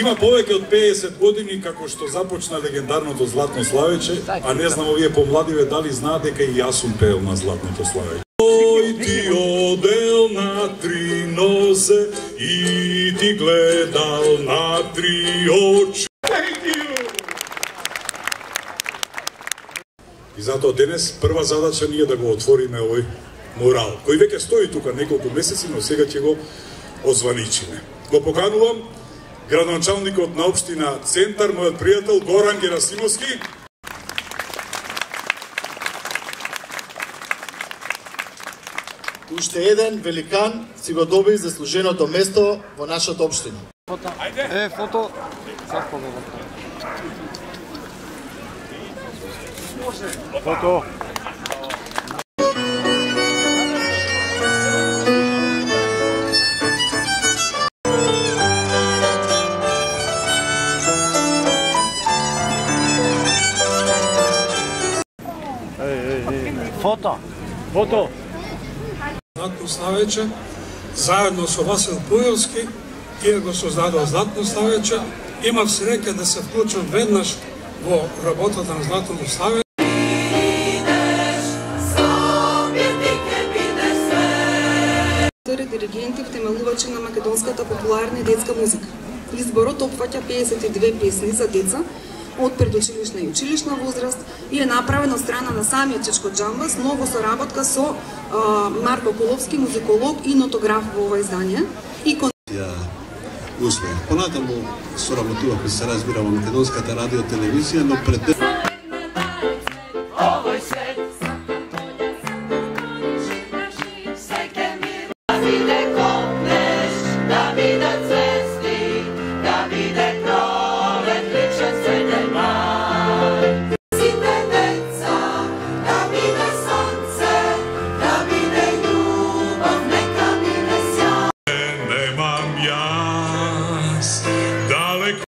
Има повеќе од 50 години како што започна легендарното Златно славече, а не знам овие помладиве дали знаат дека и јас сум пеел на Златното славече. Ој ти одел на три нозе и ти гледал на три очи. И затоа денес прва задача ние да го отвориме овој мурал, кој веќе стои тука неколку месеци, но сега ќе го озваничиме. Го поканувам градоначалникот на општина Центар, мојот пријател Горан Герасимовски. Уште еден великан си го доби заслуженото место во нашата општина. Ајде! Фото! Фото! Фото! Фото! Златно славече, заедно со Васил Пујовски, тие го создадоа Златно славече. Имав среќа да се вклучам веднаш во работата на Златното славече. Диригенти, втемелувачи на македонската популарна и детска музика. Изборот опфаќа 52 песни за деца од предучилишна и училишна возраст и е направен од страна на самиот Чечко Џамбас, но во соработка со Марко Коловски, музиколог и нотограф во ова издание. Успех. Понатаму соработувавме, се разбира, во македонската радио телевизија, но пред